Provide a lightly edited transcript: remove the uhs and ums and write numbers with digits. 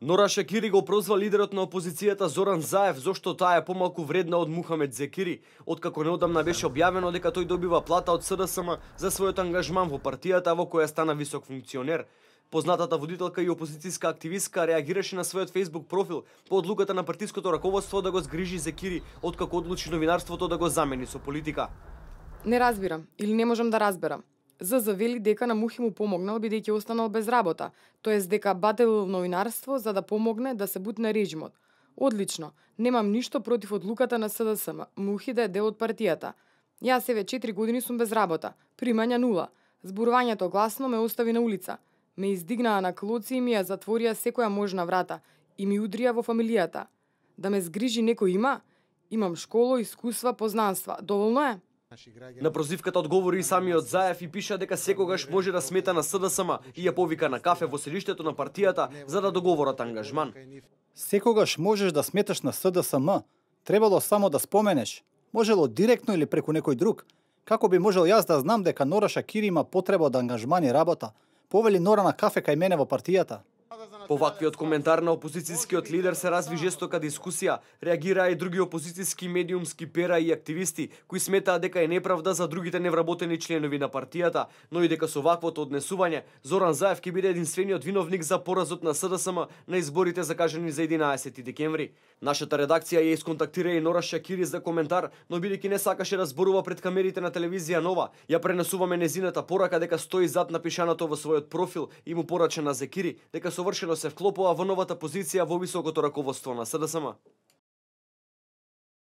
Нора Шакири го прозва лидерот на опозицијата Зоран Заев зошто таа е помалку вредна од Мухамед Зекири, откако неодамна беше објавено дека тој добива плата од СДСМ за својот ангажман во партијата во која стана висок функционер. Познатата водителка и опозицијска активистка реагираше на својот Facebook профил по одлуката на партиското раководство да го згрижи Зекири, откако одлучи новинарството да го замени со политика. Не разбирам или не можам да разберам. ЗЗ вели дека на Мухи му помогнал бидејќи останал без работа, тоест дека бателил новинарство за да помогне да се бутне режимот. Одлично, немам ништо против одлуката на СДСМ, Мухи да е дел од партијата. Јас еве 4 години сум без работа, примања нула. Зборувањето гласно ме остави на улица. Ме издигнаа на клоци и ми ја затворија секоја можна врата и ми удрија во фамилијата. Да ме згрижи некој има? Имам школа, искуства, познанства. Доволно е? На прозивката одговори и самиот Заев и пиша дека секогаш може да смета на СДСМ и ја повика на кафе во селиштето на партијата за да договорат ангажман. Секогаш можеш да сметаш на СДСМ, требало само да споменеш. Можело директно или преку некој друг. Како би можел јас да знам дека Нора Шакири има потреба од ангажман и работа? Повели Нора на кафе кај мене во партијата. По ваквиот коментар на опозицијскиот лидер се разви жестока дискусија, реагираа и други опозицијски медиумски пера и активисти кои сметаа дека е неправда за другите невработени членови на партијата, но и дека со ваквото однесување Зоран Заев ќе биде единствениот виновник за поразот на СДСМ на изборите закажани за 11 декември. Нашата редакција ја исконтактира и Нора Шакири за коментар, но бидејќи не сакаше да зборува пред камерите на телевизија Нова, ја пренесуваме незината порака дека стои зад напишаното во својот профил и му порача на Зекири дека совршено се вклопува во новата позиција во високото раководство на СДСМ.